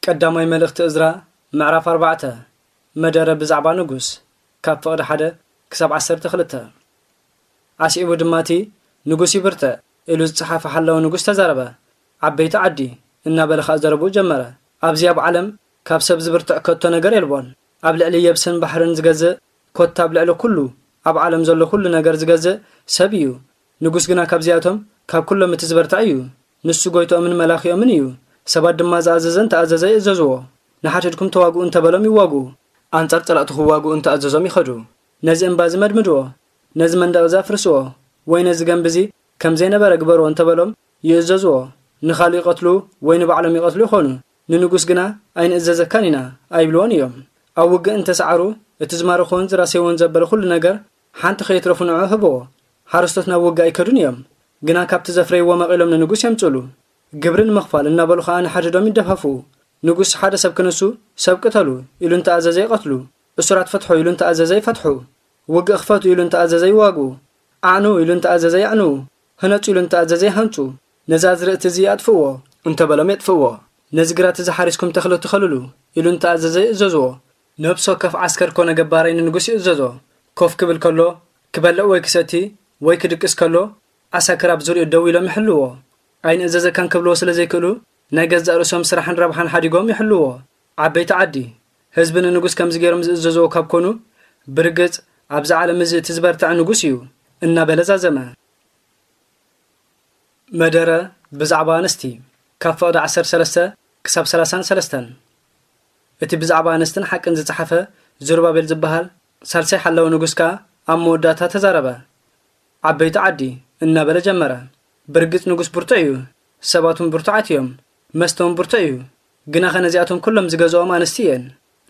ቀዳማይ መልእኽቲ እዝራ፣ ምዕራፍ ኣርባዕተ። መደረ ብዛዕባ ንጉስ፣ ካብ ፍቕዲ ሓደ ክሳብ ዓሰርተ ክልተ። ኣስዒቡ ድማ እቲ ንጉስ ይብርትዕ ኢሉ ዝጸሓፈ ሓላዊ ንጉስ ተዛረበ። ዓበይቲ ዓዲ እናበለ ኸኣ ዘረብኡ ጀመረ። ኣብዚ ኣብ ዓለም ካብ ሰብ ዝብርትዕ ከቶ ነገር የልቦን። ኣብ ልዕሊ የብስን ባሕርን ዝገዝእ፣ ኮታ ኣብ ልዕሊ ኩሉ ኣብ ዓለም ዘሎ ኩሉ ነገር ዝገዝእ ሰብ እዩ። ንጉስ ግና ካብዚኣቶም ካብ ኩሎም እቲ ዝበርትዐ እዩ። ንሱ ጎይትኦምን መላኺኦምን እዩ። ሰባት ድማ ዝኣዘዘ እንተኣዘዘ ይእዘዝዎ። ንሓድሕድኩም ተዋግኡ እንተበሎም ይዋግኡ። ኣንጻር ጸላእቱ ክዋግኡ እንተኣዘዞም ይኸዱ። ነዚ እምባ እዚ መድምድዎ፣ ነዚ መንደቕ እዚ ኣፍርስዎ፣ ወይ ነዚ ገምቢ እዚ ከም ዘይነበረ ግበርዎ እንተበሎም ይእዘዝዎ። ንኻልእ ይቐትሉ ወይ ንባዕሎም ይቐትሉ ይኾኑ። ንንጉስ ግና ኣይንእዘዘካን ኢና ኣይብልዎን እዮም። ኣብ ውግእ እንተሰዓሩ እቲ ዝማረኽዎን ዝራሰይዎን ዘበለ ኩሉ ነገር ሓንቲ ከየትረፉ ንዑ ህብዎ። ሓረስቶት ናብ ውግእ ኣይከዱን እዮም፣ ግና ካብቲ ዘፍረይዎ መቒሎም ንንጉስ የምጽሉ። ግብሪ ንምኽፋል እናበሉ ኸኣ ንሓድሕዶም ይደፋፍኡ። ንጉስ ሓደ ሰብ ክንሱ፣ ሰብ ቅተሉ ኢሉ እንተኣዘዘ ይቐትሉ። እሱራት ፍትሑ ኢሉ እንተኣዘዘ ይፈትሑ። ውግእ ክፈቱ ኢሉ እንተኣዘዘ ይዋግኡ። ኣዕንዉ ኢሉ እንተኣዘዘ የዕንዉ። ህነጹ ኢሉ እንተኣዘዘ ይሃንጹ። ነዚ ኣዝርእቲ እዚ ኣጥፍእዎ እንተበሎም የጥፍእዎ። ነዚ ግራት እዚ ሓሪስኩም ተኽሊ ትኸልሉ ኢሉ እንተኣዘዘ ይእዘዝዎ። ነብሲ ወከፍ ዓስከር ኮነ ገባራይ ንንጉስ ይእዘዞ። ኮፍ ክብል ከሎ፣ ክበልዕ ወይ ክሰቲ ወይ ክድቅስ ከሎ፣ ዓሳክር ኣብ ዙርያኡ ደው ኢሎም ይሕልዎ። ኣይንእዘዘካን ክብልዎ ስለ ዘይክእሉ፣ ናይ ገዛእ ርእሶም ስራሕን ረብሓን ሓዲጎም ይሕልዎ። ዓበይቲ ዓዲ፣ ህዝቢ ንንጉስ ከምዚ ገይሮም ዝእዘዝዎ ካብ ኮኑ፣ ብርግጽ ኣብዚ ዓለም እዚ እቲ ዝበርትዐ ንጉስ እዩ፣ እናበለ ዛዘመ። መደረ ብዛዕባ ኣንስቲ፣ ካብ ፍቕዲ ዓሰርተ ሰለስተ ክሳብ ሰላሳን ሰለስተን። እቲ ብዛዕባ ኣንስትን ሓቅን ዝጸሓፈ ዙርባቤል ዝበሃል ሳልሳይ ሓላዊ ንጉስ ከኣ ኣብ መወዳእታ ተዛረበ። ዓበይቲ ዓዲ፣ እናበለ ጀመረ። ብርግጽ ንጉስ ብርቱዕ እዩ፣ ሰባቱን ብርቱዓት እዮም፣ መስተውን ብርቱዕ እዩ። ግናኸ ነዚኣቶም ኩሎም ዝገዝኦም ኣንስቲ እየን።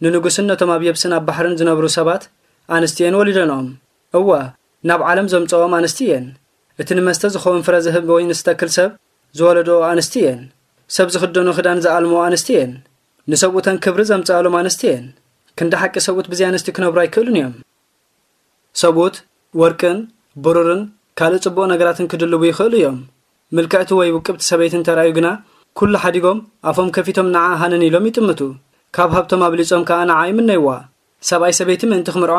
ንንጉስን ነቶም ኣብ የብስን ኣብ ባሕርን ዝነብሩ ሰባት ኣንስቲ እየን ወሊደንኦም። እወ፣ ናብ ዓለም ዘምጽኦም ኣንስቲ እየን። እቲ ንመስተ ዝኸውን ፍረ ዝህብ ወይኒ ዝተክል ሰብ ዝወለድኦ ኣንስቲ እየን። ሰብ ዝኽደኖ ክዳን ዝኣልምኦ ኣንስቲ እየን። ንሰብኡተን ክብሪ ዘምጽኣሎም ኣንስቲ እየን። ክንዲ ሓቂ ሰብኡት ብዘይ ኣንስቲ ክነብሩ ኣይክእሉን እዮም። ሰብኡት ወርቅን ብሩርን ካልእ ጽቡቕ ነገራትን ክድልቡ ይኽእሉ እዮም። ምልክዕቲ ወይ ውቅብቲ ሰበይቲ እንተ ረኣዩ ግና፣ ኩሉ ሓዲጎም ኣፎም ከፊቶም ንዓ ሃነን ኢሎም ይጥምቱ። ካብ ሃብቶም ኣብሊጾም ከኣ ንዓ ይምነይዋ። ሰብኣይ ሰበይቲ ምእንቲ ክምርዖ፣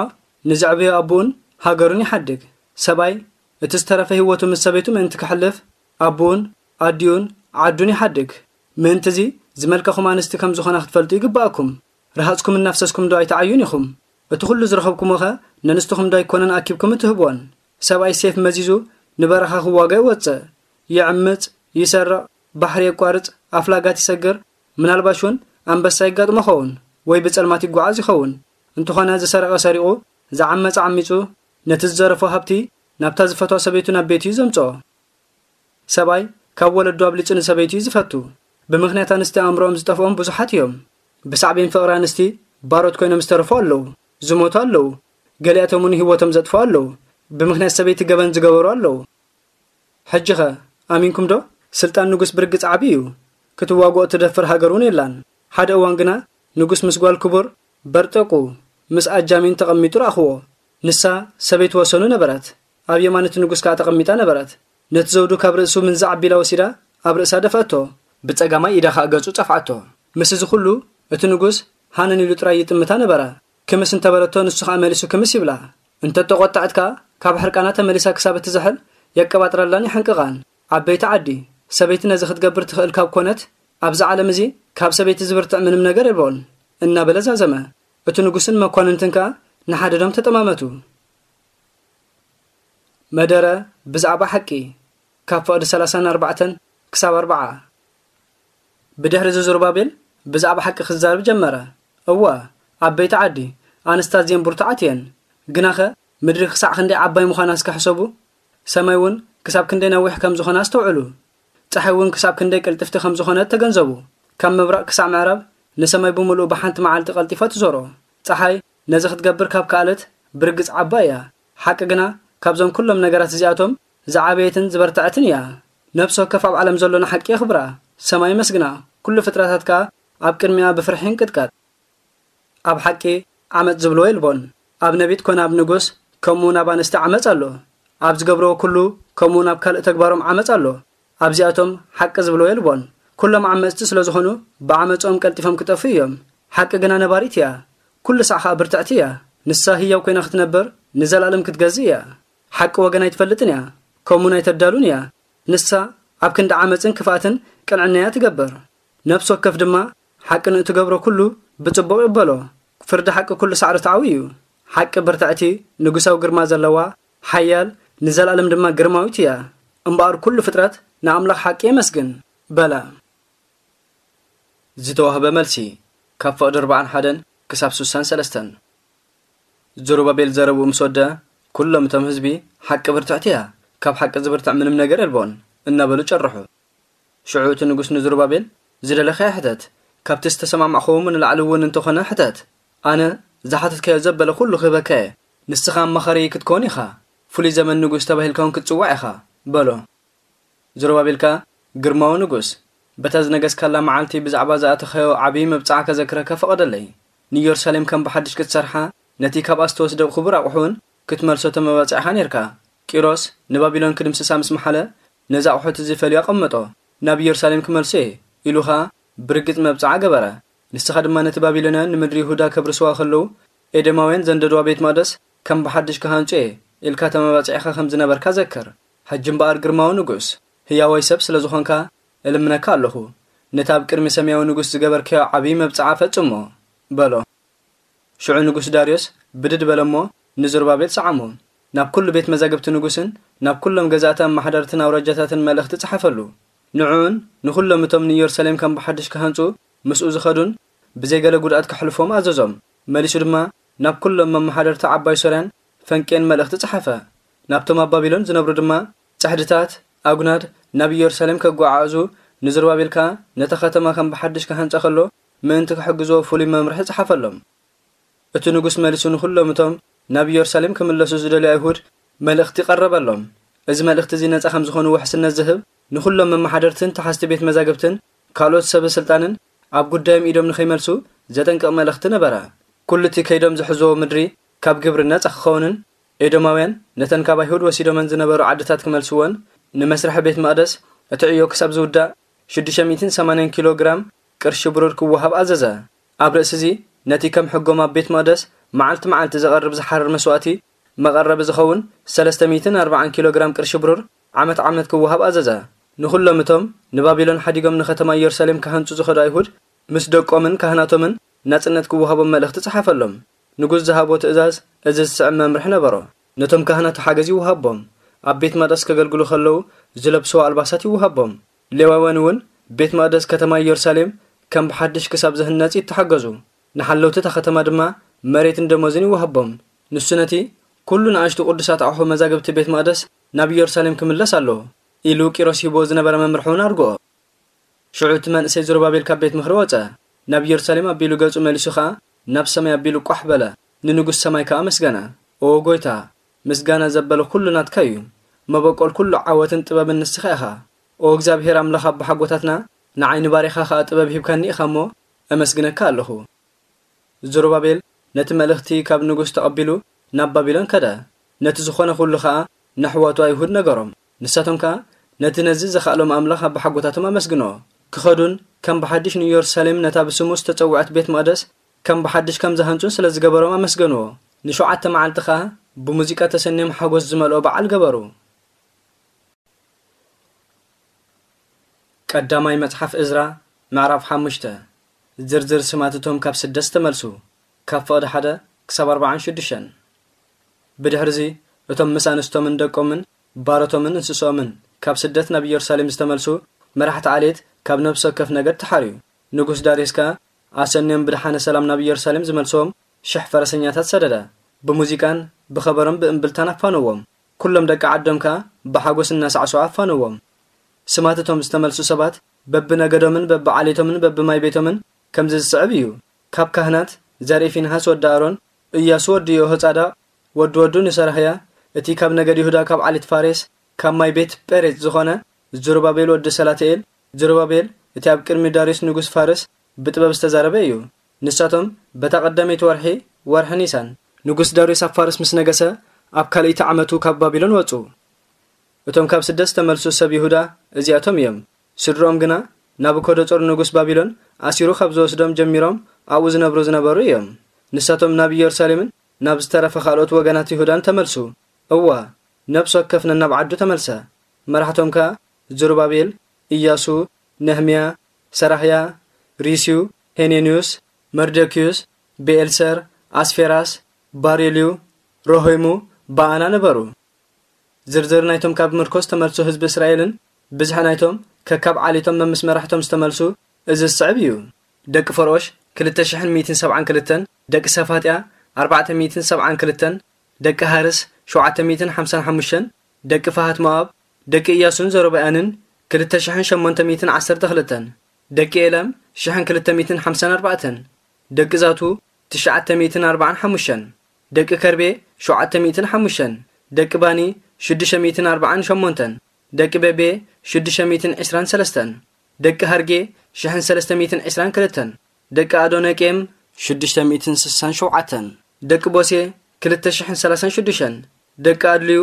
ንዘዕበዮ ኣቦኡን ሃገሩን ይሓድግ። ሰብኣይ እቲ ዝተረፈ ህይወቱ ምስ ሰበይቱ ምእንቲ ከሕልፍ፣ ኣቦኡን ኣዲኡን ዓዱን ይሓድግ። ምእንቲ እዚ ዝመልከኹም ኣንስቲ ከም ዝኾና ክትፈልጡ ይግብኣኩም። ረሃጽኩም እናፍሰስኩም ዶ ኣይትዓዩን ኢኹም? እቲ ኩሉ ዝረኸብኩሞኸ ነንስትኹም ዶ ኣይኮነን ኣኪብኩም እትህብወን? ሰብኣይ ሴፍ መዚዙ ንበረኻ ክዋጋ ይወጽእ። ይዕምጽ፣ ይሰርቕ፣ ባሕሪ የቋርጽ፣ ኣፍላጋት ይሰግር፣ ምናልባሽ እውን ኣንበሳ ይጋጥሞ ኸውን ወይ ብጸልማት ይጓዓዝ ይኸውን። እንተኾነ ዝሰረቐ ሰሪቑ፣ ዝዓመጸ ዓሚጹ፣ ነቲ ዝዘረፎ ሃብቲ ናብታ ዝፈትዋ ሰበይቱ ናብ ቤቱ እዩ ዘምጽኦ። ሰብኣይ ካብ ወለዱ ኣብሊጹ ንሰበይቱ እዩ ዝፈቱ። ብምኽንያት ኣንስቲ ኣእምሮኦም ዝጠፍኦም ብዙሓት እዮም። ብሳዕቤን ፍቕሪ ኣንስቲ ባሮት ኮይኖም ዝተረፉ ኣለዉ፣ ዝሞቱ ኣለዉ፣ ገሊኣቶም እውን ህይወቶም ዘጥፍኡ ኣለዉ። ብምኽንያት ሰበይቲ ገበን ዝገበሩ ኣለዉ። ሕጂኸ ኣሚንኩም ዶ? ስልጣን ንጉስ ብርግጽ ዓቢ እዩ። ክትዋግኦ እትደፍር ሃገር እውን የላን። ሓደ እዋን ግና ንጉስ ምስ ጓል ክቡር በርጠቁ ምስ ኣጃሚን ተቐሚጡ ረኣኽዎ። ንሳ ሰበይቲ ወሰኑ ነበረት። ኣብ የማን እቲ ንጉስ ከኣ ተቐሚጣ ነበረት። ነቲ ዘውዱ ካብ ርእሱ ምንዛዕ ኣቢላ ወሲዳ ኣብ ርእሳ ደፍኣቶ። ብጸጋማይ ኢዳ ከኣ ገጹ ጸፍዓቶ። ምስ እዚ ኩሉ እቲ ንጉስ ሃነን ኢሉ ጥራይ ይጥምታ ነበረ። ክምስ እንተበለቶ ንሱ ከኣ መሊሱ ክምስ ይብላ። እንተተቖጠዐት ከኣ ካብ ሕርቃና ተመሊሳ ክሳብ እትዝሕል የቀባጥረላን የሕንቅቓን። ዓበይቲ ዓዲ፣ ሰበይቲ ነዚ ክትገብር ትኽእል ካብ ኮነት፣ ኣብዚ ዓለም እዚ ካብ ሰበይቲ ዝብርትዕ ምንም ነገር የልቦን፣ እናበለ ዛዘመ። እቲ ንጉስን መኳንንትን ከኣ ንሓድሕዶም ተጠማመቱ። መደረ ብዛዕባ ሓቂ፣ ካብ ፍቕዲ ሰላሳን ኣርባዕተን ክሳብ ኣርብዓ። ብድሕሪ እዚ ዙርባቤል ብዛዕባ ሓቂ ክዛረብ ጀመረ። እወ፣ ዓበይቲ ዓዲ፣ ኣንስቲ ኣዝየን ብርቱዓት እየን። ግናኸ ምድሪ ክሳዕ ክንደይ ዓባይ ምዃና እስከ ሕሰቡ። ሰማይ እውን ክሳብ ክንደይ ነዊሕ ከም ዝኾነ ኣስተውዕሉ። ጸሓይ እውን ክሳብ ክንደይ ቅልጥፍቲ ከም ዝኾነት ተገንዘቡ። ካብ ምብራቕ ክሳብ ምዕራብ ንሰማይ ብምሉኡ ብሓንቲ መዓልቲ ቀልጢፋ ትዞሮ። ጸሓይ ነዚ ክትገብር ካብ ከኣለት ብርግጽ ዓባይ እያ። ሓቂ ግና ካብዞም ኩሎም ነገራት እዚኣቶም ዝዓበየትን ዝበርትዐትን እያ። ነፍሲ ወከፍ ኣብ ዓለም ዘሎ ንሓቂ የኽብራ፣ ሰማይ የመስግና፣ ኩሉ ፍጥረታት ከኣ ኣብ ቅድሚኣ ብፍርሒ ይንቅጥቀጥ። ኣብ ሓቂ ዓመጽ ዝብልዎ የልቦን። ኣብ ነቢት ኮነ ኣብ ንጉስ፣ ከምኡውን ኣብ ኣንስቲ ዓመጽ ኣሎ። ኣብ ዝገብርዎ ኩሉ፣ ከምኡውን ኣብ ካልእ ተግባሮም ዓመጽ ኣሎ። ኣብዚኣቶም ሓቂ ዝብልዎ የልቦን። ኩሎም ዓመጽቲ ስለ ዝኾኑ፣ ብዓመጾም ቀልጢፎም ክጠፍኡ እዮም። ሓቂ ግና ነባሪት እያ፣ ኩሉ ሳዕ ኸኣ ብርትዕቲ እያ። ንሳ ህያው ኮይና ክትነብር፣ ንዘለኣለም ክትገዝእ እያ። ሓቂ ወገን ኣይትፈልጥን እያ፣ ከምኡውን ኣይተዳሉን እያ። ንሳ ኣብ ክንዲ ዓመጽን ክፍኣትን ቅንዕና እያ ትገብር። ነፍሲ ወከፍ ድማ ሓቂ ንእትገብሮ ኩሉ ብጽቡቕ ይቕበሎ። ፍርዲ ሓቂ ኩሉ ሳዕ ርትዓዊ እዩ። ሓቂ ብርትዕቲ፣ ንጉሳዊ ግርማ ዘለዋ፣ ሓያል፣ ንዘለኣለም ድማ ግርማዊት እያ። እምበኣር ኩሉ ፍጥረት ንኣምላኽ ሓቂ የመስግን፣ በለ። ዝተዋህበ መልሲ፣ ካብ ፍቕዲ ኣርብዓን ሓደን ክሳብ ስሳን ሰለስተን። ዘሩባቤል ዘረብኡ ምስ ወደ፣ ኩሎም እቶም ህዝቢ፣ "ሓቂ ብርትዕቲ እያ፣ ካብ ሓቂ ዝብርትዕ ምንም ነገር የልቦን" እናበሉ ጨርሑ። ሽዑ እቲ ንጉስ ንዘሩባቤል፣ "ዝደለኻዮ ሕተት፣ ካብቲ ዝተሰማማዕኹዎ ንላዕሊ እውን እንተኾነ ሕተት። ኣነ ዝሓተትካዮ ዘበለ ኩሉ ክህበካ እየ። ንስኻ ኣማኻሪ ክትከውን ኢኻ፣ ፍሉይ ዘመን ንጉስ ተባሂልካ እውን ክትጽዋዕ ኢኻ" በሎ። ዘሩባቤል ከኣ፣ "ግርማዊ ንጉስ፣ በታ ዝነገስካላ መዓልቲ ብዛዕባ ዝኣተኻዮ ዓብዪ መብጽዓ ከዘክረካ ፍቐደለይ። ንኢየሩሳሌም ከም ብሓድሽ ክትሰርሓ፣ ነቲ ካብኣ ዝተወስደ ክቡር ኣቑሑ እውን ክትመልሶ ተመባጺዕኻ ኔርካ። ቂሮስ ንባቢሎን ክድምስሳ ምስ መሓለ፣ ነዚ ኣቑሑት እዚ ፈልዩ ኣቐመጦ። ናብ ኢየሩሳሌም ክመልሶ እየ" ኢሉ ኸኣ ብርግጽ መብጽዓ ገበረ። ንስኻ ድማ ነቲ ባቢሎናውያን ንምድሪ ይሁዳ ከብርስዋ ከለዉ፣ ኤዶማውያን ዘንደድዋ ቤት መቕደስ ከም ብሓድሽ ክሃንጹ እየ ኢልካ ተመባጺዕኻ ከም ዝነበርካ ዘክር። ሕጂ እምበኣር ግርማዊ ንጉስ፣ ህያዋይ ሰብ ስለ ዝኾንካ፣ እልምነካ ኣለኹ፣ ነቲ ኣብ ቅድሚ ሰማያዊ ንጉስ ዝገበርካዮ ዓብዪ መብጽዓ ፈጽሞ፣ በሎ። ሽዑ ንጉስ ዳርዮስ ብድድ በለ እሞ፣ ንዘሩባቤል ሰዓሞ። ናብ ኩሉ ቤት መዛግብቲ ንጉስን ናብ ኩሎም ገዛእቲ ኣመሓደርትን ኣውራጃታትን መልእኽቲ ጸሓፈሉ። ንዕኡን ንኹሎም እቶም ንኢየሩሳሌም ከም ብሓድሽ ክሃንጹ ምስኡ ዝኸዱን ብዘይ ገለ ጉድኣት ከሕልፎም ኣዘዞም። መሊሱ ድማ ናብ ኩሎም መመሓደርቲ ዓባይ ሶርያን ፈንቄን መልእኽቲ ጸሓፈ። ናብቶም ኣብ ባቢሎን ዝነብሩ ድማ ጽሕድታት፣ ኣጉናድ፣ ናብ ኢየሩሳሌም ከጓዓዕዙ፣ ንዘሩባቤል ከኣ ነታ ከተማ ከም ብሓድሽ ክሃንጻ ከሎ ምእንቲ ክሕግዝዎ ፍሉይ መምርሒ ጸሓፈሎም። እቲ ንጉስ መሊሱ ንኹሎም እቶም ናብ ኢየሩሳሌም ክምለሱ ዝደልዩ ኣይሁድ መልእኽቲ ቀረበሎም። እዚ መልእኽቲ እዚ ነጻ ከም ዝኾኑ ውሕስነት ዝህብ፣ ንኹሎም መመሓደርትን ተሓዝቲ ቤት መዛግብትን ካልኦት ሰበ ስልጣንን ኣብ ጉዳዮም ኢዶም ንኸይመልሱ ዘጠንቅቕ መልእኽቲ ነበረ። ኩሉ እቲ ከይዶም ዝሕዝዎ ምድሪ ካብ ግብሪ ነጻ ክኸውንን ኤዶማውያን ነተን ካብ ኣይሁድ ወሲዶመን ዝነበሩ ዓድታት ክመልስወን፣ ንመስርሒ ቤት መቕደስ እቲ ዕዮ ክሳብ ዝውዳእ ሽዱሽተ ሚእትን ሰማንያን ኪሎ ግራም ቅርሺ ብሩር ክወሃብ ኣዘዘ። ኣብ ርእሲ እዚ ነቲ ከም ሕጎም ኣብ ቤት መቕደስ መዓልቲ መዓልቲ ዝቐርብ ዝሓርር መስዋእቲ መቐረቢ ዝኸውን ሰለስተ ሚእትን ኣርባዓን ኪሎ ግራም ቅርሺ ብሩር ዓመት ዓመት ክወሃብ ኣዘዘ። ንኹሎም እቶም ንባቢሎን ሓዲጎም ንከተማ ኢየሩሳሌም ክሃንጹ ዝኸዱ ኣይሁድ ምስ ደቆምን ካህናቶምን ናጽነት ክወሃቦም መልእኽቲ ጸሓፈሎም። ንጉስ ዝሃቦ ትእዛዝ እዚ ዝስዕብ መምርሒ ነበሮ። ነቶም ካህናት ሓገዝ ይወሃቦም። ኣብ ቤት መቕደስ ከገልግሉ ከለዉ ዝለብስዎ ኣልባሳት ይወሃቦም። ሌዋውያን እውን ቤት መቕደስ ከተማ ኢየሩሳሌም ከም ብሓድሽ ክሳብ ዝህነጽ ይተሓገዙ። ንሓለውቲ እታ ከተማ ድማ መሬትን ደሞዝን ይወሃቦም። ንሱ ነቲ ኩሉ ንኣሽቱ ቅዱሳት ኣቑሑ መዛግብቲ ቤት መቕደስ ናብ ኢየሩሳሌም ክምለስ ኣለዎ ኢሉ ቂሮስ ሂብዎ ዝነበረ መምርሒ እውን ኣርግኦ። ሽዑ እቲ መንእሰይ ዘሩባቤል ካብ ቤት ምኽሪ ወጸ። ናብ ኢየሩሳሌም ኣቢሉ ገጹ መሊሱ ኸኣ ናብ ሰማይ ኣቢሉ ቋሕ በለ። ንንጉስ ሰማይ ከኣ ኣመስገነ። "ኦ ጎይታ፣ ምስጋና ዘበለ ኩሉ ናትካ እዩ። መበቆል ኩሉ ዓወትን ጥበብን ንስኻ ኢኻ። ኦ እግዚኣብሄር ኣምላኽ ኣቦሓጎታትና፣ ንዓይ ንባሪኻ ኸኣ ጥበብ ሂብካኒ ኢኻ እሞ፣ ኣመስግነካ ኣለኹ።" ዘሩባቤል ነቲ መልእኽቲ ካብ ንጉስ ተቐቢሉ ናብ ባቢሎን ከደ። ነቲ ዝኾነ ኩሉ ኸኣ ነሕዋቱ ኣይሁድ ነገሮም። ንሳቶም ከኣ ነቲ ነዚ ዘኻእሎም ኣምላኽ ኣቦሓጎታቶም ኣመስግንዎ። ክኸዱን ከም ብሓድሽ ንኢየሩሳሌም ነታ ብስሙ ዝተጸውዐት ቤት መቕደስ ከም ብሓድሽ ከም ዝሃንጹን ስለ ዝገበሮም ኣመስገንዎ። ንሸውዓተ መዓልቲ ኸኣ ብሙዚቃ ተሰንዮም ሓጎስ ዝመልኦ በዓል ገበሩ። ቀዳማይ መጽሓፍ እዝራ፣ ምዕራፍ ሓሙሽተ። ዝርዝር ስማት እቶም ካብ ስደት ዝተመልሱ፣ ካብ ፍቕዲ ሓደ ክሳብ ኣርባዓን ሽዱሽተን። ብድሕርዚ፣ እቶም ምስ ኣንስቶምን ደቆምን ባሮቶምን እንስሶምን ካብ ስደት ናብ ኢየሩሳሌም ዝተመልሱ መራሕቲ ዓሌት ካብ ነፍሲ ወከፍ ነገድ ተሓርዩ። ንጉስ ዳርዮስ ከኣ ኣሰንዮም ብደሓነ ሰላም ናብ ኢየሩሳሌም ዝመልስዎም ሽሕ ፈረሰኛታት ሰደደ። ብሙዚቃን ብኸበሮን ብእምብልታን ኣፋነዎም። ኩሎም ደቂ ዓዶም ከኣ ብሓጎስ እናሳዕስዑ ኣፋነዎም። ስማት እቶም ዝተመልሱ ሰባት በብነገዶምን በብዓሌቶምን በብማይ ቤቶምን ከምዚ ዝስዕብ እዩ። ካብ ካህናት፣ ዘርኢ ፊንሃስ ወዲ ኣሮን፣ እያሱ ወዲ የሆጻዳቕ፣ ወዲ ወዱ ንሰራህያ፣ እቲ ካብ ነገድ ይሁዳ ካብ ዓሌት ፋሬስ፣ ካብ ማይ ቤት ጴሬጽ ዝኾነ፣ ዝሩባቤል ወዲ ሰላትኤል። ዝሩባቤል፣ እቲ ኣብ ቅድሚ ዳርዮስ ንጉስ ፋርስ ብጥበብ ዝተዛረበ እዩ። ንሳቶም በታ ቀዳመይቲ ወርሒ፣ ወርሒ ኒሳን፣ ንጉስ ዳርዮስ ኣብ ፋርስ ምስ ነገሰ፣ ኣብ ካልኣይቲ ዓመቱ ካብ ባቢሎን ወጹ። እቶም ካብ ስደት ዝተመልሱ ሰብ ይሁዳ እዚኣቶም እዮም። ስድርኦም ግና ናቡከደጾር ንጉስ ባቢሎን ኣሲሩ ካብ ዝወስዶም ጀሚሮም ኣብኡ ዝነብሩ ዝነበሩ እዮም። ንሳቶም ናብ ኢየሩሳሌምን ናብ ዝተረፈ ካልኦት ወገናት ይሁዳን ተመልሱ። እዋ፣ ነፍሲ ወከፍ ነናብ ዓዱ ተመልሰ። መራሕቶም ከኣ ዝሩባቤል፣ ኢያሱ፣ ነህምያ፣ ሰራህያ፣ ሪስዩ፣ ሄኔንዩስ፣ መርደክዩስ፣ ብኤልሰር፣ ኣስፌራስ፣ ባሬልዩ፣ ሮሆይሙ፣ በኣና ነበሩ። ዝርዝር ናይቶም ካብ ምርኮ ዝተመልሱ ህዝቢ እስራኤልን ብዝሒ ናይቶም ከካብ ዓሌቶም መምስ መራሕቶም ዝተመልሱ እዚ ዝስዕብ እዩ። ደቂ ፈርኦሽ ክልተ ሽሕን ሚእትን ሰብዓን ክልተን፣ ደቂ ሰፋጥያ ኣርባዕተ ሚእትን ሰብዓን ክልተን፣ ደቂ ሃርስ ሸውዓተ ሚእትን ሓምሳን ሓሙሽተን፣ ደቂ ፈሃት ሞኣብ፣ ደቂ ኢያሱን ዘሮብኣንን ክልተ ሽሕን ሸሞንተ ሚእትን ዓሰርተ ክልተን፣ ደቂ ኤላም ሽሕን ክልተ ሚእትን ሓምሳን ኣርባዕተን፣ ደቂ ዛቱ ትሽዓተ ሚእትን ኣርባዓን ሓሙሽተን፣ ደቂ ከርቤ ሸውዓተ ሚእትን ሓሙሽተን፣ ደቂ ባኒ ሽዱሽተ ሚእትን ኣርባዓን ሸሞንተን፣ ደቂ በቤ ሽዱሽተ ሚእትን ዕስራን ሰለስተን፣ ደቂ ሃርጌ ሽሕን ሰለስተ ሚእትን ዕስራን ክልተን፣ ደቂ ኣዶነቄም ሽዱሽተ ሚእትን ስሳን ሸውዓተን፣ ደቂ ቦሴ ክልተ ሽሕን ሰላሳን ሽዱሽተን፣ ደቂ ኣድልዩ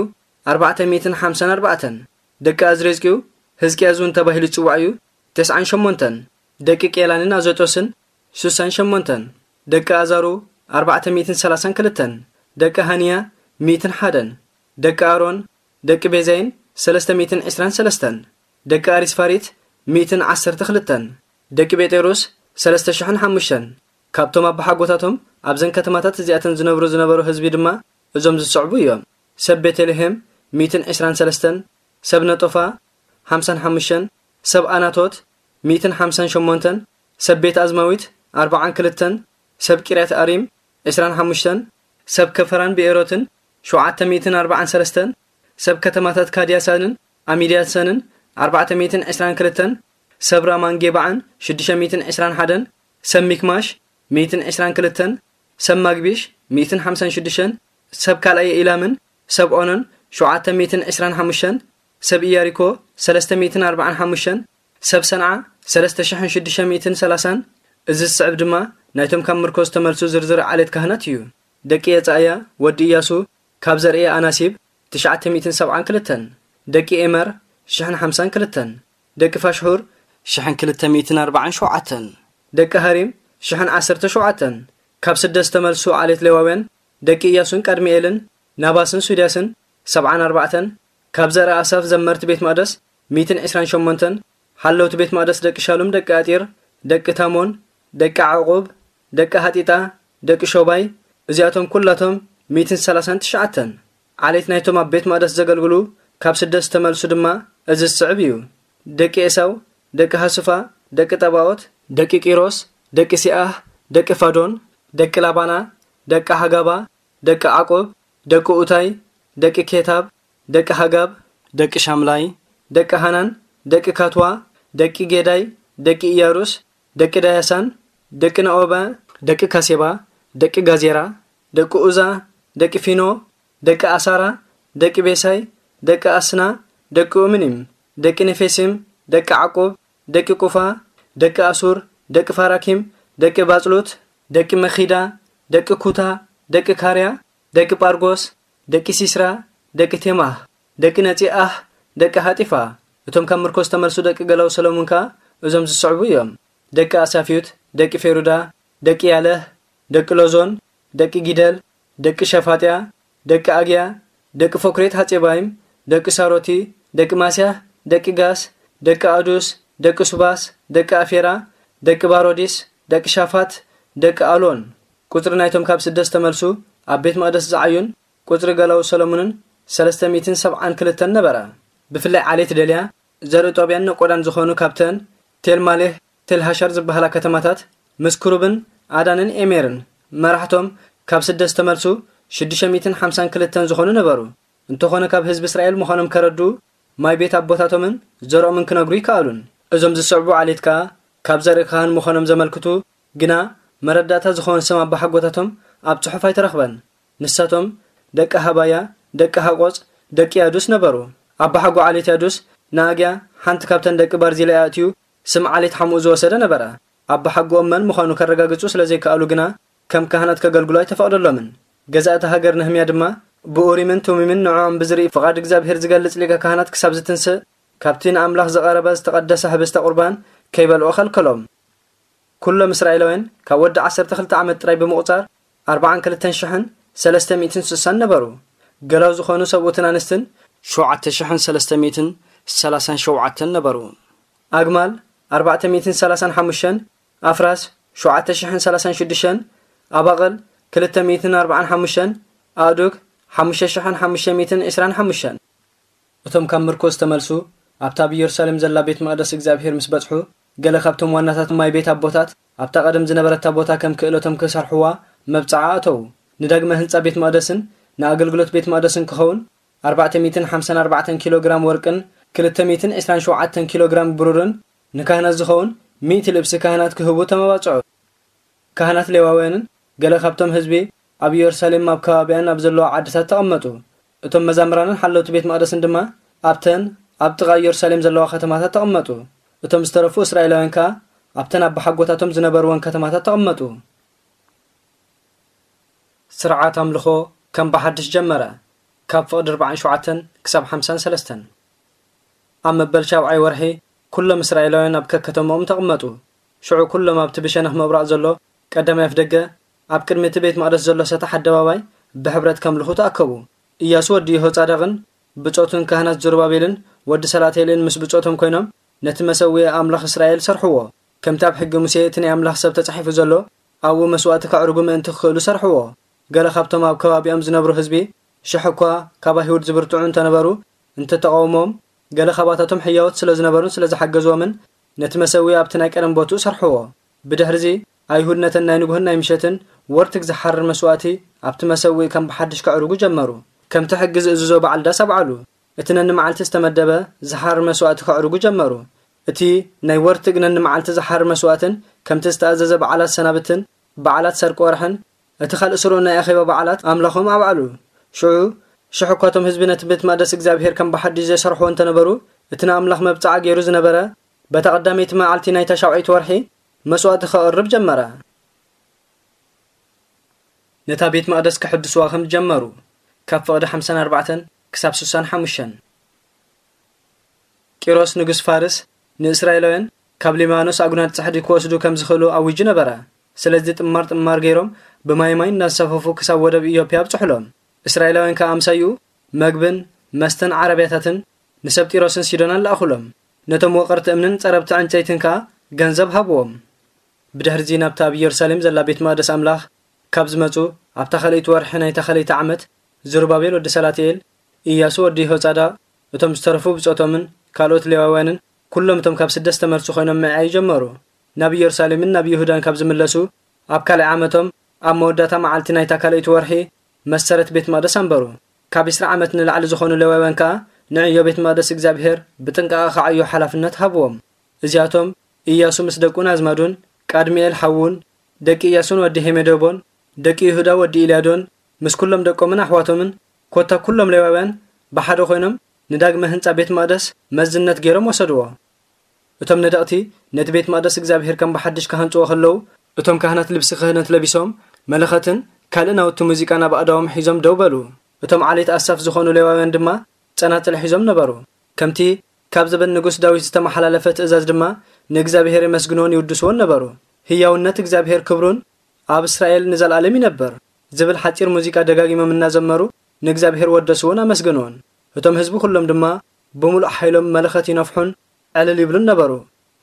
ኣርባዕተ ሚእትን ሓምሳን ኣርባዕተን፣ ደቂ ኣዝሬዝቅዩ፣ ህዝቅያስ እውን ተባሂሉ ይጽዋዕ እዩ፣ ተስዓን ሸሞንተን፣ ደቂ ቄላንን ኣዘጦስን ሱሳን ሸሞንተን፣ ደቂ ኣዛሩ ኣርባዕተ ሚእትን ሰላሳን ክልተን፣ ደቂ ሃንያ ሚእትን ሓደን፣ ደቂ ኣሮን፣ ደቂ ቤዛይን ሰለስተ ሚእትን ዕስራን ሰለስተን፣ ደቂ ኣሪስፋሪት ሚእትን ዓሰርተ ክልተን፣ ደቂ ቤጤሩስ ሰለስተ ሽሕን ሓሙሽተን። ካብቶም ኣባሓጎታቶም ኣብዘን ከተማታት እዚኣተን ዝነብሩ ዝነበሩ ህዝቢ ድማ እዞም ዝስዕቡ እዮም። ሰብ ቤተልሔም ሚእትን ዕስራን ሰለስተን፣ ሰብ ነጦፋ ሓምሳን ሓሙሽተን፣ ሰብ ኣናቶት ሚእትን ሓምሳን ሸሞንተን፣ ሰብ ቤት ኣዝማዊት ኣርባዓን ክልተን፣ ሰብ ቂርያት ኣሪም ዕስራን ሓሙሽተን፣ ሰብ ከፈራን ብኤሮትን ሸውዓተ ሚእትን ኣርባዓን ሰለስተን፣ ሰብ ከተማታት ካድያሳንን ኣሚድያሰንን ኣርባዕተ ሚእትን ዕስራን ክልተን፣ ሰብ ራማን ጌባዓን ሽዱሽተ ሚእትን ዕስራን ሓደን፣ ሰብ ሚክማሽ ሚእትን ዕስራን ክልተን፣ ሰብ ማግቢሽ ሚእትን ሓምሳን ሽዱሽተን፣ ሰብ ካልኣየ ኢላምን ሰብ ኦኖን ሸውዓተ ሚእትን ዕስራን ሓሙሽተን፣ ሰብ ኢያሪኮ ሰለስተ ሚእትን ኣርባዓን ሓሙሽተን፣ ሰብ ሰንዓ ሰለስተ ሽሕን ሽዱሽተ ሚእትን ሰላሳን። እዚ ዝስዕብ ድማ ናይቶም ካብ ምርኮ ዝተመልሱ ዝርዝር ዓሌት ካህናት እዩ። ደቂ የጻእያ ወዲ ኢያሱ ካብ ዘርኢ ኣናሲብ ትሽዓተ ሚእትን ሰብዓን ክልተን፣ ደቂ ኤመር ሽሕን ሓምሳን ክልተን፣ ደቂ ፋሽሑር ሽሕን ክልተ ሚእትን ኣርባዓን ሸውዓተን፣ ደቂ ሃሪም ሽሕን ዓሰርተ ሸውዓተን። ካብ ስደት ዝተመልሱ ዓሌት ሌዋውያን ደቂ ኢያሱን ቀድሚኤልን ናባስን ሱድያስን ሰብዓን ኣርባዕተን፣ ካብ ዘርኢ ኣሳፍ ዘመርቲ ቤት መቕደስ ሚእትን ዕስራን ሸሞንተን፣ ሓለውቲ ቤት መቕደስ ደቂ ሻሉም ደቂ ኣጢር፣ ደቂ ታሞን፣ ደቂ ዓቑብ፣ ደቂ ሃጢጣ፣ ደቂ ሾባይ፣ እዚኣቶም ኩላቶም ሚእትን ሰላሳን ትሽዓተን። ዓሌት ናይቶም ኣብ ቤት መቕደስ ዘገልግሉ ካብ ስደት ዝተመልሱ ድማ እዚ ዝስዕብ እዩ። ደቂ ኤሳው፣ ደቂ ሃሱፋ፣ ደቂ ጠባኦት፣ ደቂ ቂሮስ፣ ደቂ ሲኣህ፣ ደቂ ፋዶን፣ ደቂ ላባና፣ ደቂ ሃጋባ፣ ደቂ ዓቆብ፣ ደቂ ኡታይ፣ ደቂ ኬታብ፣ ደቂ ሃጋብ፣ ደቂ ሻምላይ፣ ደቂ ሃናን፣ ደቂ ካትዋ፣ ደቂ ጌዳይ፣ ደቂ ኢያሩስ፣ ደቂ ዳያሳን፣ ደቂ ነኦባ፣ ደቂ ካሴባ፣ ደቂ ጋዜራ፣ ደቂ ኡዛ፣ ደቂ ፊኖ፣ ደቂ ኣሳራ፣ ደቂ ቤሳይ፣ ደቂ ኣስና፣ ደቂ ኡምኒም፣ ደቂ ነፌሲም፣ ደቂ ዓቁብ፣ ደቂ ቁፋ፣ ደቂ ኣሱር፣ ደቂ ፋራኪም፣ ደቂ ባጽሉት፣ ደቂ መኺዳ፣ ደቂ ኩታ፣ ደቂ ካርያ፣ ደቂ ጳርጎስ፣ ደቂ ሲስራ፣ ደቂ ቴማህ፣ ደቂ ነጺኣህ፣ ደቂ ሃጢፋ። እቶም ካብ ምርኮ ዝተመልሱ ደቂ ገላው ሰሎሞን ከኣ እዞም ዝስዕቡ እዮም። ደቂ ኣሳፍዩት፣ ደቂ ፌሩዳ፣ ደቂ ያለህ፣ ደቂ ሎዞን፣ ደቂ ጊደል፣ ደቂ ሸፋጥያ፣ ደቂ ኣግያ፣ ደቂ ፎክሬት ሃጼባይም፣ ደቂ ሳሮቲ፣ ደቂ ማስያህ፣ ደቂ ጋስ፣ ደቂ ኣዱስ፣ ደቂ ሱባስ፣ ደቂ ኣፌራ፣ ደቂ ባሮዲስ፣ ደቂ ሻፋት፣ ደቂ ኣሎን። ቁጽሪ ናይቶም ካብ ስደት ዝተመልሱ ኣብ ቤት መቕደስ ዝዓዩን ቁጽሪ ገላው ሰሎሞንን ሰለስተ ሚእትን ሰብዓን ክልተን ነበረ። ብፍላይ ዓሌት ደልያ፣ ዘርኢ ጦብያን ነቆዳን ዝኾኑ ካብተን ቴልማሌህ፣ ቴልሃሻር ዝበሃላ ከተማታት ምስ ክሩብን ኣዳንን ኤሜርን መራሕቶም ካብ ስደት ዝተመልሱ ሽዱሽተ ሚእትን ሓምሳን ክልተን ዝኾኑ ነበሩ። እንተኾነ ካብ ህዝቢ እስራኤል ምዃኖም ከረድኡ ማይ ቤት ኣቦታቶምን ዘርኦምን ክነግሩ ይከኣሉን። እዞም ዝስዕቡ ዓሌት ከኣ ካብ ዘርኢ ካህን ምዃኖም ዘመልክቱ ግና መረዳእታ ዝኾን ስም ኣባሓጎታቶም ኣብ ጽሑፍ ኣይተረኽበን። ንሳቶም ደቂ ሃባያ፣ ደቂ ሃቆጽ፣ ደቂ ያዱስ ነበሩ። ኣባሓጎ ዓሌት ያዱስ ንኣግያ ሓንቲ ካብተን ደቂ ባርዚላይ ኣእትዩ ስም ዓሌት ሓምኡ ዝወሰደ ነበረ። ኣባሓጎኦም መን ምዃኑ ከረጋግጹ ስለ ዘይከኣሉ ግና ከም ካህናት ከገልግሉ ኣይተፈቕደሎምን። ገዛእቲ ሃገር ነህምያ ድማ ብኡሪምን ቱሚምን ንዕኦም ብዝርኢ ፍቓድ እግዚኣብሄር ዝገልጽ ሊቀ ካህናት ክሳብ ዝትንስእ ካብቲ ንኣምላኽ ዝቐረበ ዝተቐደሰ ህብስተ ቁርባን ከይበልዑ ከልከሎም። ኩሎም እስራኤላውያን ካብ ወዲ ዓሰርተ ክልተ ዓመት ጥራይ ብምቑጻር ኣርባዓን ክልተን ሽሕን ሰለስተ ሚእትን ስሳን ነበሩ። ገላው ዝኾኑ ሰብኡትን ኣንስትን ሸውዓተ ሽሕን ሰለስተ ሚእትን ሰላሳን ሸውዓተን ነበሩ። ኣግማል ኣርባዕተ ሚእትን ሰላሳን ሓሙሽተን፣ ኣፍራስ ሸውዓተ ሽሕን ሰላሳን ሽዱሽተን፣ ኣባቕል ክልተ ሚእትን ኣርባዓን ሓሙሽተን፣ ኣእዱግ ሓሙሽተ ሽሕን ሓሙሽተ ሚእትን ዕስራን ሓሙሽተን። እቶም ካብ ምርኮ ዝተመልሱ ኣብታ ኣብ ኢየሩሳሌም ዘላ ቤት መቕደስ እግዚኣብሔር ምስ በጽሑ፣ ገለ ካብቶም ዋናታት ማይ ቤት ኣቦታት ኣብታ ቀደም ዝነበረታ ቦታ ከም ክእለቶም ክሰርሕዋ መብጽዓ ኣተዉ። ንዳግመ ህንጻ ቤት መቕደስን ንኣገልግሎት ቤት መቕደስን ክኸውን ኣርባዕተ ሚእትን ሓምሳን ኣርባዕተን ኪሎ ግራም ወርቅን ክልተ ሚእትን ዕስራን ሸውዓተን ኪሎ ግራም ብሩርን ንካህናት ዝኸውን ሚእቲ ልብሲ ካህናት ክህቡ ተመባጽዑ። ካህናት ሌዋውያንን ገለ ካብቶም ህዝቢ ኣብ ኢየሩሳሌም ኣብ ከባቢኣን ኣብ ዘለዋ ዓድታት ተቐመጡ። እቶም መዛምራንን ሓለውቲ ቤት መቕደስን ድማ ኣብተን ኣብ ጥቓ ኢየሩሳሌም ዘለዋ ከተማታት ተቐመጡ። እቶም ዝተረፉ እስራኤላውያን ከኣ ኣብተን ኣባሓጎታቶም ዝነበርወን ከተማታት ተቐመጡ። ስርዓት ኣምልኾ ከም ብሓድሽ ጀመረ። ካብ ፍቕዲ ኣርባዓን ሸውዓተን ክሳብ ሓምሳን ሰለስተን። ኣብ መበል ሻብዓይ ወርሒ ኩሎም እስራኤላውያን ኣብ ከከተማኦም ተቐመጡ። ሽዑ ኩሎም ኣብቲ ብሸነኽ ምብራቕ ዘሎ ቀዳማይ ኣፍደገ ኣብ ቅድሚ እቲ ቤት መቕደስ ዘሎ ሰጣሕ ኣደባባይ ብሕብረት ከምልኹ ተኣከቡ። ኢያሱ ወዲ የሆጻዳቕን ብጾቱን ካህናት ዙሩባቤልን ወዲ ሰላትኤልን ምስ ብጾቶም ኮይኖም ነቲ መሰውኢ ኣምላኽ እስራኤል ሰርሕዎ። ከምቲ ኣብ ሕጊ ሙሴ እቲ ናይ ኣምላኽ ሰብ ተጻሒፉ ዘሎ ኣብኡ መስዋእቲ ከዕርጉ ምእንቲ ክኽእሉ ሰርሕዎ። ገለ ካብቶም ኣብ ከባቢኦም ዝነብሩ ህዝቢ ሽሕ እኳ ካብ ኣይሁድ ዝብርትዑ እንተነበሩ እንተተቓውሞም፣ ገለ ካባታቶም ሕያዎት ስለ ዝነበሩን ስለ ዝሓገዝዎምን ነቲ መሰውኢ ኣብቲ ናይ ቀደም ቦትኡ ሰርሕዎ። ብድሕርዚ ኣይሁድ ነተን ናይ ንጉህን ናይ ምሸትን ወርትግ ዝሓርር መስዋእቲ ኣብቲ መሰውኢ ከም ብሓድሽ ከዕርጉ ጀመሩ። ከምቲ ሕጊ ዝእዝዞ በዓል ዳስ ኣብዓሉ። እቲ ነንመዓልቲ ዝተመደበ ዝሓርር መስዋእቲ ከዕርጉ ጀመሩ። እቲ ናይ ወርትግ ነንመዓልቲ ዝሓርር መስዋእትን ከምቲ ዝተኣዘዘ በዓላት ሰናብትን በዓላት ሰርቂ ወርሕን እቲ ካልእ ስሩዕ ናይ ኣኼባ በዓላት ኣምላኾም ኣብዓሉ። ሽዑ ሽሕ እኳ እቶም ህዝቢ ነቲ ቤት መቕደስ እግዚኣብሔር ከም ብሓድሽ ዘይሰርሕዎ እንተነበሩ፣ እቲ ንኣምላኽ መብጽዓ ገይሩ ዝነበረ በታ ቀዳመይቲ መዓልቲ ናይታ ሻውዓይቲ ወርሒ መስዋእቲ ከቕርብ ጀመረ። ነታ ቤት መቕደስ ክሕድስዋ ከም ጀመሩ ካብ ፍቕዲ ሓምሳን ኣርባዕተን ክሳብ ስሳን ሓሙሽተን። ቂሮስ ንጉስ ፋርስ ንእስራኤላውያን ካብ ሊባኖስ ኣጉናድ ጽሕዲ ክወስዱ ከም ዝኽእሉ ኣዊጁ ነበረ። ስለዚ ጥማር ጥማር ገይሮም ብማይ ማይ እናንሳፈፉ ክሳብ ወደብ ኢዮፕያ ኣብጽሑሎም። እስራኤላውያን ከኣ ኣምሳይኡ መግብን መስተን ዓረብያታትን ንሰብ ጢሮስን ሲዶናን ለኣኹሎም። ነቶም ወቐርቲ እምንን ጸረብቲ ዕንጨይትን ከኣ ገንዘብ ሃብዎም። ብድሕርዚ ናብታ ኣብ ኢየሩሳሌም ዘላ ቤት መቕደስ ኣምላኽ ካብ ዝመጹ ኣብታ ካልኣይቲ ወርሒ ናይታ ካልኣይቲ ዓመት፣ ዝሩባቤል ወዲ ሰላትኤል፣ ኢያሱ ወዲ የሆጻዳቕ፣ እቶም ዝተረፉ ብጾቶምን ካልኦት ሌዋውያንን ኩሎም እቶም ካብ ስደት ዝተመልሱ ኮይኖም ምዕያይ ጀመሩ። ናብ ኢየሩሳሌምን ናብ ይሁዳን ካብ ዝምለሱ ኣብ ካልኣይ ዓመቶም ኣብ መወዳእታ መዓልቲ ናይታ ካልኣይቲ ወርሒ መሰረት ቤት መቕደስ ኣንበሩ። ካብ ዕስራ ዓመት ንላዕሊ ዝኾኑ ሌዋውያን ከኣ ንዕዮ ቤት መቕደስ እግዚኣብሔር ብጥንቃቐ ክዓዩ ሓላፍነት ሃብዎም። እዚኣቶም ኢያሱ ምስ ደቁን ኣዝማዱን፣ ቃድሚኤል ሓዉን፣ ደቂ ኢያሱን ወዲ ሄሜዶቦን፣ ደቂ ይሁዳ ወዲ ኢልያዶን፣ ምስ ኩሎም ደቆምን ኣሕዋቶምን፣ ኮታ ኩሎም ሌዋውያን ብሓደ ኮይኖም ንዳግመ ህንጻ ቤት መቕደስ መዝነት ገይሮም ወሰድዎ። እቶም ነደቕቲ ነቲ ቤት መቕደስ እግዚኣብሔር ከም ብሓድሽ ክሃንጽዎ ከለዉ፣ እቶም ካህናት ልብሲ ክህነት ለቢሶም፣ መለኸትን ካልእ ናውቲ ሙዚቃን ኣብ ኣእዳዎም ሒዞም ደው በሉ። እቶም ዓሌት ኣሳፍ ዝኾኑ ሌዋውያን ድማ ጸናጽል ሒዞም ነበሩ። ከምቲ ካብ ዘበን ንጉስ ዳዊት ዝተመሓላለፈ ትእዛዝ ድማ ንእግዚኣብሔር የመስግንዎን ይውድስዎን ነበሩ። ህያውነት እግዚኣብሔር ክብሩን ኣብ እስራኤል ንዘለኣለም ይነብር ዝብል ሓጺር ሙዚቃ ደጋጊሞም እናዘመሩ ንእግዚኣብሔር ወደስዎን ኣመስገንዎን። እቶም ህዝቢ ኩሎም ድማ ብምሉእ ሓይሎም መለኸት ይነፍሑን ዕልል ይብሉን ነበሩ።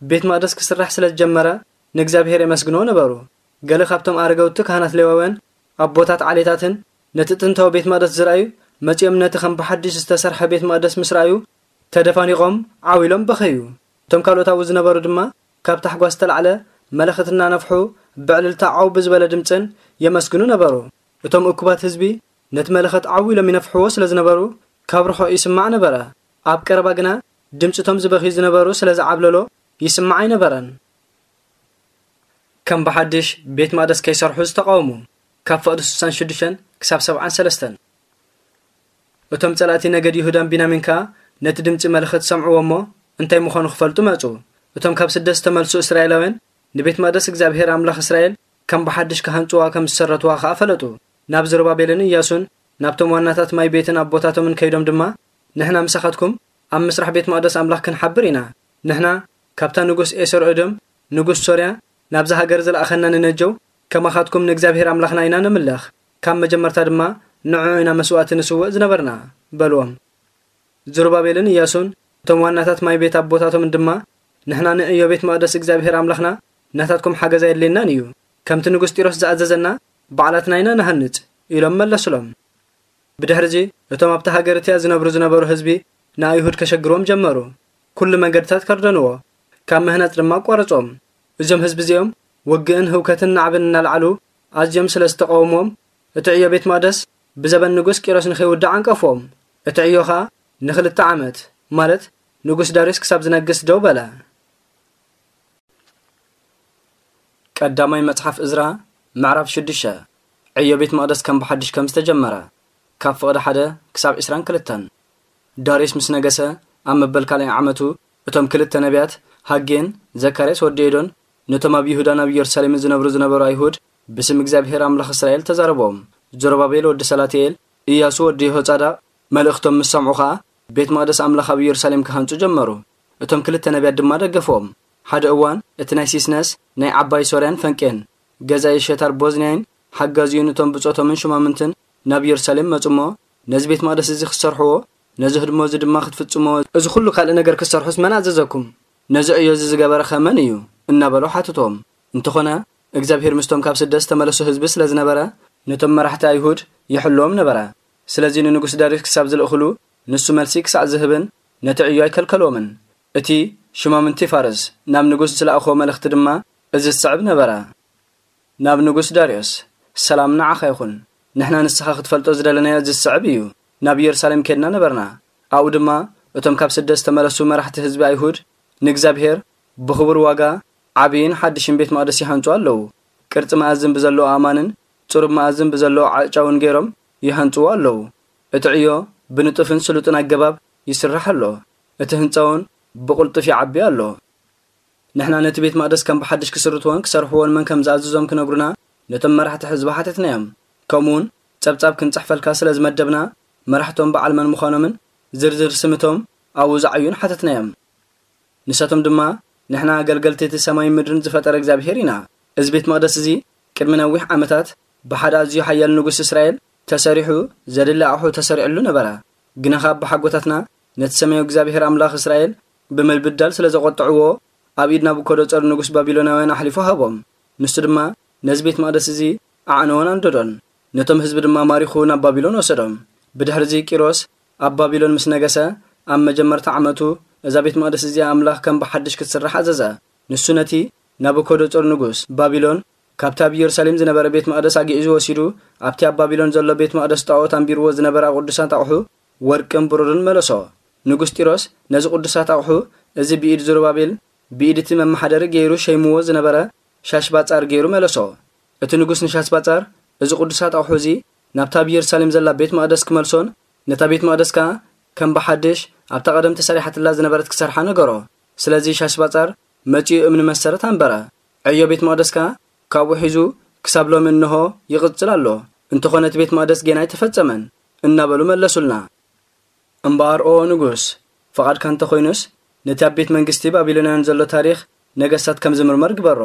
ቤት መቕደስ ክስራሕ ስለ ዝጀመረ ንእግዚኣብሔር የመስግንዎ ነበሩ። ገለ ካብቶም ኣረገውቲ ካህናት ሌዋውያን ኣቦታት ዓሌታትን ነቲ ጥንታዊ ቤት መቕደስ ዝረኣዩ መጺኦም ነቲ ከም ብሓድሽ ዝተሰርሐ ቤት መቕደስ ምስ ረኣዩ ተደፋኒቖም ዓው ኢሎም በኸዩ። እቶም ካልኦት ኣብኡ ዝነበሩ ድማ ካብ ታሕጓስ ዝተላዕለ መለኸት እናነፍሑ ብዕልልታ ዓው ብዝበለ ድምጽን የመስግኑ ነበሩ። እቶም እኩባት ህዝቢ ነቲ መለኸት ዓው ኢሎም ይነፍሕዎ ስለ ዝነበሩ ካብ ርሑቕ ይስማዕ ነበረ። ኣብ ቀረባ ግና ድምጺ እቶም ዝበኽዩ ዝነበሩ ስለ ዝዓብለሎ ይስማዕ ኣይነበረን። ከም ብሓድሽ ቤት መቕደስ ከይሰርሑ ዝተቓወሙ ካብ ፍቕዲ ስሳን ሽዱሽተን ክሳብ ሰብዓን ሰለስተን። እቶም ጸላእቲ ነገድ ይሁዳን ቢንያሚን ከኣ ነቲ ድምጺ መለኸት ሰምዕዎ እሞ እንታይ ምዃኑ ክፈልጡ መጹ። እቶም ካብ ስደት ዝተመልሱ እስራኤላውያን ንቤት መቕደስ እግዚኣብሔር ኣምላኽ እስራኤል ከም ብሓድሽ ክሃንጽዋ ከም ዝሰረትዋ ከኣ ፈለጡ። ናብ ዘሩባቤልን ኢያሱን ናብቶም ዋናታት ማይ ቤትን ኣቦታቶምን ከይዶም ድማ ንሕና ምሳኻትኩም ኣብ ምስራሕ ቤት መቕደስ ኣምላኽ ክንሓብር ኢና። ንሕና ካብታ ንጉስ ኤሰር እዶም ንጉስ ሶርያ ናብዛ ሃገር ዝለኣኸና ንነጀው፣ ከማኻትኩም ንእግዚኣብሔር ኣምላኽና ኢና ነምልኽ፣ ካብ መጀመርታ ድማ ንዕኡ ኢና መስዋእቲ ንስውእ ዝነበርና በልዎም። ዝሩባቤልን ኢያሱን እቶም ዋናታት ማይ ቤት ኣቦታቶምን ድማ፣ ንሕና ንዕዮ ቤት መቕደስ እግዚኣብሔር ኣምላኽና ናታትኩም ሓገዝ ኣየድልየናን እዩ፣ ከምቲ ንጉስ ጢሮስ ዝኣዘዘና ባዕላትና ኢና ንሃንጽ ኢሎም መለሱሎም። ብድሕርዚ እቶም ኣብቲ ሃገር እቲኣ ዝነብሩ ዝነበሩ ህዝቢ ንኣይሁድ ከሸግርዎም ጀመሩ። ኩሉ መንገድታት ከርደንዎ፣ ካብ ምህናጽ ድማ ኣቋረጾም። እዞም ህዝቢ እዚኦም ውግእን ህውከትን ናዕብን እናልዓሉ ኣዝዮም ስለ ዝተቃወምዎም፣ እቲ ዕዮ ቤት መቕደስ ብዘበን ንጉስ ቂሮስ ንኸይውዳእ ዓንቀፍዎም። እቲ ዕዮ ኸኣ ንኽልተ ዓመት፣ ማለት ንጉስ ዳርዮስ ክሳብ ዝነግስ ደው በለ። ቀዳማይ መጽሓፍ እዝራ ምዕራፍ ሽዱሽተ። ዕዮ ቤት መቕደስ ከም ብሓድሽ ከም ዝተጀመረ። ካብ ፍቕዲ ሓደ ክሳብ ዕስራን ክልተን። ዳርዮስ ምስ ነገሰ ኣብ መበል ካልኣይ ዓመቱ፣ እቶም ክልተ ነቢያት፣ ሃጌን ዘካርያስ ወዲ ኤዶን፣ ነቶም ኣብ ይሁዳን ኣብ ኢየሩሳሌምን ዝነብሩ ዝነበሩ ኣይሁድ ብስም እግዚኣብሔር ኣምላኽ እስራኤል ተዛረቦም። ዘሩባቤል ወዲ ሰላትኤል፣ ኢያሱ ወዲ የሆጻዳቕ መልእኽቶም ምስ ሰምዑ ኸኣ፣ ቤት መቕደስ ኣምላኽ ኣብ ኢየሩሳሌም ክሃንጹ ጀመሩ። እቶም ክልተ ነቢያት ድማ ደገፍዎም። ሓደ እዋን፣ እቲ ናይ ሲስነስ ናይ ዓባይ ሶርያን ፈንቄን ገዛኢ ሸታር ቦዝንያይን ሓጋዚኡን እቶም ብጾቶምን ሹማምንትን ናብ ኢየሩሳሌም መጹ እሞ፣ ነዚ ቤት መቕደስ እዚ ክትሰርሕዎ፣ ነዚ ህድሞ እዚ ድማ ክትፍጽምዎ፣ እዚ ኹሉ ካልእ ነገር ክትሰርሑስ መን ኣዘዘኩም? ነዚ ዕዮ እዚ ዝገበረ ኸ መን እዩ? እናበሉ ሓትቶም። እንተኾነ፣ እግዚኣብሔር ምስቶም ካብ ስደት ዝተመለሱ ህዝቢ ስለ ዝነበረ፣ ነቶም መራሕቲ ኣይሁድ ይሕልዎም ነበረ። ስለዚ ንንጉስ ዳርዮስ ክሳብ ዝልእኽሉ፣ ንሱ መልሲ ክሳዕ ዝህብን ነቲ ዕዮ ኣይከልከልዎምን። እቲ ሽማምንቲ ፋርስ ናብ ንጉስ ዝለኣኽዎ መልእኽቲ ድማ እዚ ዝስዕብ ነበረ። ናብ ንጉስ ዳርዮስ፣ ሰላም ንዓኻ ይኹን። ንሕና ንስኻ ክትፈልጦ ዝደለናዮ እዚ ዝስዕብ እዩ። ናብ ኢየሩሳሌም ኬድና ነበርና። ኣብኡ ድማ እቶም ካብ ስደት ዝተመለሱ መራሕቲ ህዝቢ ኣይሁድ ንእግዚኣብሔር ብኽቡር ዋጋ ዓብይን ሓድሽን ቤት መቕደስ ይሃንጹ ኣለዉ። ቅርጺ መኣዝን ብዘለዎ ኣእማንን ጽሩብ መኣዝን ብዘለዎ ዓጫውን ገይሮም ይሃንጽዎ ኣለዉ። እቲ ዕዮ ብንጡፍን ስሉጥን ኣገባብ ይስራሕ ኣሎ። እቲ ህንጻ እውን ብቕልጡፍ ይዓቢ ኣሎ። ንሕና ነቲ ቤት መቕደስ ከም ብሓድሽ ክስርትዎን ክሰርሕዎን መን ከም ዝኣዘዞም ክነግሩና ነቶም መራሕቲ ህዝቢ ሓተትናዮም። ከምኡውን ጸብጻብ ክንጽሕፈልካ ስለ ዝመደብና፣ መራሕቶም በዓል መን ምዃኖምን ዝርዝር ስምቶም ኣብኡ ዝዓዩን ሓተትናዮም። ንሳቶም ድማ፣ "ንሕና ኣገልገልቲ እቲ ሰማይን ምድርን ዝፈጠረ እግዚኣብሔር ኢና። እዚ ቤት መቕደስ እዚ ቅድሚ ነዊሕ ዓመታት ብሓደ ኣዝዩ ሓያል ንጉስ እስራኤል ተሰሪሑ፣ ዘድሊ ኣቑሑ ተሰሪዕሉ ነበረ። ግና ኸኣ ኣቦሓጎታትና ነቲ ሰማያዊ እግዚኣብሔር ኣምላኽ እስራኤል ብምብዳል ስለ ዘቖጥዕዎ፣ ኣብ ኢድ ናቡከደጸር ንጉስ ባቢሎናውያን ኣሕሊፉ ሃቦም። ንሱ ድማ ነዚ ቤት መቕደስ እዚ ኣዕነዎን ኣንደዶን። ነቶም ህዝቢ ድማ ማሪኹ ናብ ባቢሎን ወሰዶም። ብድሕርዚ ቂሮስ ኣብ ባቢሎን ምስ ነገሰ፣ ኣብ መጀመርታ ዓመቱ እዛ ቤት መቕደስ እዚኣ ኣምላኽ ከም ብሓድሽ ክትስራሕ ኣዘዘ። ንሱ ነቲ ናቡከደጸር ንጉስ ባቢሎን ካብቲ ኣብ ኢየሩሳሌም ዝነበረ ቤት መቕደስ ኣግዒዙ ወሲዱ፣ ኣብቲ ኣብ ባቢሎን ዘሎ ቤት መቕደስ ጣዖት ኣንቢርዎ ዝነበረ ቅዱሳት ኣቑሑ፣ ወርቅን ብሩርን መለሶ። ንጉስ ጢሮስ ነዚ ቅዱሳት ኣቑሑ፣ እዚ ብኢድ ዙሩባቤል፣ ብኢድ እቲ መመሓደሪ ገይሩ ሸይምዎ ዝነበረ ሻሽባጻር ገይሩ መለሶ። እቲ ንጉስ ንሻሽባጻር፣ እዚ ቅዱሳት ኣቑሑ እዚ ናብታ ኣብ ኢየሩሳሌም ዘላ ቤት መቕደስ ክመልሶን ነታ ቤት መቕደስ ከኣ ከም ብሓድሽ ኣብታ ቀደም ተሰሪሓትላ ዝነበረት ክሰርሓ ነገሮ። ስለዚ ሻሽባጻር መጺኡ እምኒ መሰረት ኣንበረ። ዕዮ ቤት መቕደስ ከኣ ካብኡ ሒዙ ክሳብ ሎሚ እንሆ ይቕጽል ኣሎ። እንተኾነ እቲ ቤት መቕደስ ጌና ኣይተፈጸመን እናበሉ መለሱልና። እምበኣር ኦ ንጉስ፣ ፍቓድካ እንተኾይኑስ፣ ነቲ ኣብ ቤት መንግስቲ ባቢሎናውያን ዘሎ ታሪኽ ነገስታት ከም ዝምርመር ግበሮ።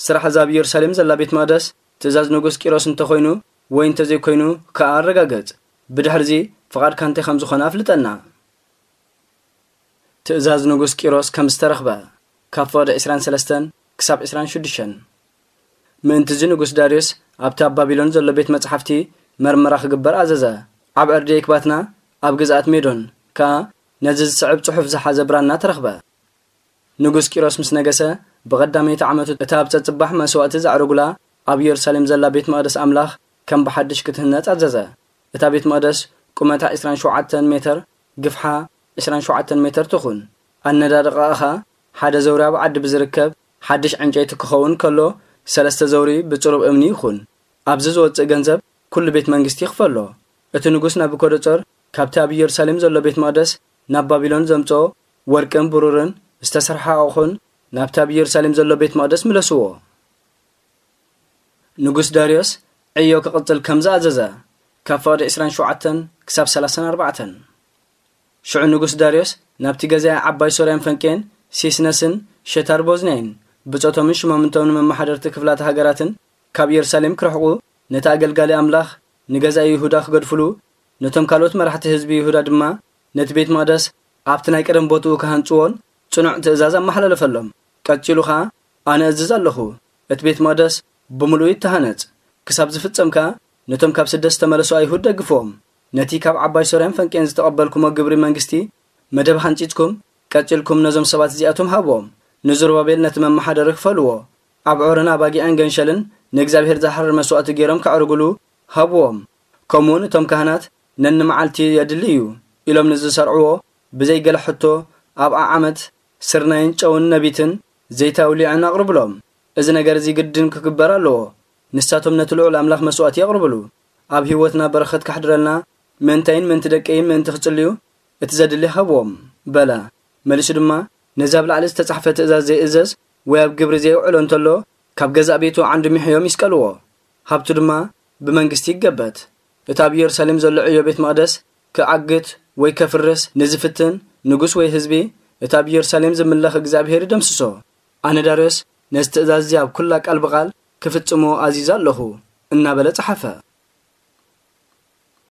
ስራሕ እዛ ኣብ ኢየሩሳሌም ዘላ ቤት መቕደስ ትእዛዝ ንጉስ ቂሮስ እንተኾይኑ ወይ እንተዘይኮይኑ ከኣ ኣረጋግጽ። ብድሕርዚ ፍቓድካ እንታይ ከም ዝኾነ ኣፍልጠና። ትእዛዝ ንጉስ ቂሮስ ከም ዝተረኽበ፣ ካብ ፍቕዲ ዕስራን ሰለስተን ክሳብ ዕስራን ሽዱሽተን። ምእንትዚ ንጉስ ዳርዮስ ኣብቲ ኣብ ባቢሎን ዘሎ ቤት መጻሕፍቲ መርመራ ክግበር ኣዘዘ። ኣብ ዕርዲ የክባትና ኣብ ግዝኣት ሜዶን ከኣ ነዚ ዝስዕብ ጽሑፍ ዝሓዘ ብራና ተረኽበ። ንጉስ ቂሮስ ምስ ነገሰ፣ ብቐዳመይቲ ዓመቱ እታ ኣብ ጸጽባሕ መስዋእቲ ዘዕረጉላ ኣብ ኢየሩሳሌም ዘላ ቤት መቕደስ ኣምላኽ ከም ብሓድሽ ክትህነጽ ኣዘዘ። እታ ቤት መቕደስ ቁመታ ዕስራን ሸውዓተን ሜተር፣ ግፍሓ ዕስራን ሸውዓተን ሜተር ትኹን። ኣነዳድቓኣ ኸኣ ሓደ ዘውሪ ኣብ ዓዲ ብዝርከብ ሓድሽ ዕንጨይቲ ክኸውን ከሎ፣ ሰለስተ ዘውሪ ብጽሩብ እምኒ ይኹን። ኣብዚ ዝወጽእ ገንዘብ ኩሉ ቤት መንግስቲ ይኽፈሎ። እቲ ንጉስ ናቡከደጾር ካብቲ ኣብ ኢየሩሳሌም ዘሎ ቤት መቕደስ ናብ ባቢሎን ዘምጽኦ ወርቅን ብሩርን ዝተሰርሐ ኣቑሑን ናብቲ ኣብ ኢየሩሳሌም ዘሎ ቤት መቕደስ ምለስዎ። ንጉስ ዳርዮስ ዕዮ ክቕጽል ከም ዝኣዘዘ፣ ካብ ፍቕዲ ዕስራን ሸውዓተን ክሳብ ሰላሳን ኣርባዕተን። ሽዑ ንጉስ ዳርዮስ ናብቲ ገዛኢ ዓባይ ሶርያን ፈንቄን ሲስነስን ሸታር ቦዝንያይን ብጾቶምን ሽማምንቶምን መመሓደርቲ ክፍላተ ሃገራትን ካብ ኢየሩሳሌም ክርሕቁ፣ ነቲ ኣገልጋሊ ኣምላኽ ንገዛኢ ይሁዳ ክገድፍሉ፣ ነቶም ካልኦት መራሕቲ ህዝቢ ይሁዳ ድማ ነቲ ቤት መቕደስ ኣብቲ ናይ ቀደም ቦትኡ ክሃንጽዎን ጽኑዕ ትእዛዝ ኣመሓላለፈሎም። ቀጺሉ ኸኣ፣ ኣነ እዝዝ ኣለኹ፣ እቲ ቤት መቕደስ ብምሉኡ ይተሃነጽ፣ ክሳብ ዝፍጸም ከኣ ነቶም ካብ ስደት ዝተመለሱ ኣይሁድ ደግፍዎም። ነቲ ካብ ዓባይ ሶርያን ፈንቅኤን ዝተቐበልኩሞ ግብሪ መንግስቲ መደብ ሃንጺጽኩም፣ ቀጺልኩም ነዞም ሰባት እዚኣቶም ሃብዎም። ንዝሩባቤል ነቲ መመሓደሪ ክፈልዎ፣ ኣብ ዖርን ኣባጊዕን ገንሸልን ንእግዚኣብሔር ዝሓርር መስዋእቲ ገይሮም ከዕርጉሉ ሃብዎም። ከምኡውን እቶም ካህናት ነንመዓልቲ የድሊ እዩ ኢሎም ንዝሰርዕዎ ብዘይ ገለ ሕቶ ኣብ ዓዓመት ስርናይን ጨውን ነቢትን ዘይታ ውሊዕን ኣቕርብሎም። እዚ ነገር እዚ ግድን ክግበር ኣለዎ። ንሳቶም ነቲ ልዑል ኣምላኽ መስዋእቲ የቕርብሉ። ኣብ ህይወትና በረኸት ከሕድረልና ምእንታይን ምእንቲ ደቀይን ምእንቲ ክጽልዩ እቲ ዘድሊ ሃብዎም በለ። መሊሱ ድማ ነዚ ኣብ ላዕሊ ዝተጻሕፈ ትእዛዝ ዘይእዘዝ ወይ ኣብ ግብሪ ዘይውዕሎ እንተሎ ካብ ገዛእ ቤቱ ዓንዱ ሚሕዮም ይስቀልዎ። ሃብቱ ድማ ብመንግስቲ ይገበት። እቲ ኣብ ኢየሩሳሌም ዘሎ ዕዮ ቤት መቕደስ ክዓግት ወይ ከፍርስ ንዝፍትን ንጉስ ወይ ህዝቢ እቲ ኣብ ኢየሩሳሌም ዝምለኽ እግዚኣብሔር ይደምስሶ። ኣነ ዳርዮስ ነዚ ትእዛዝ እዚ ኣብ ኩላ ቃል ብቓል ክፍጽሞ ኣዚዘ ኣለኹ እናበለ ጸሓፈ።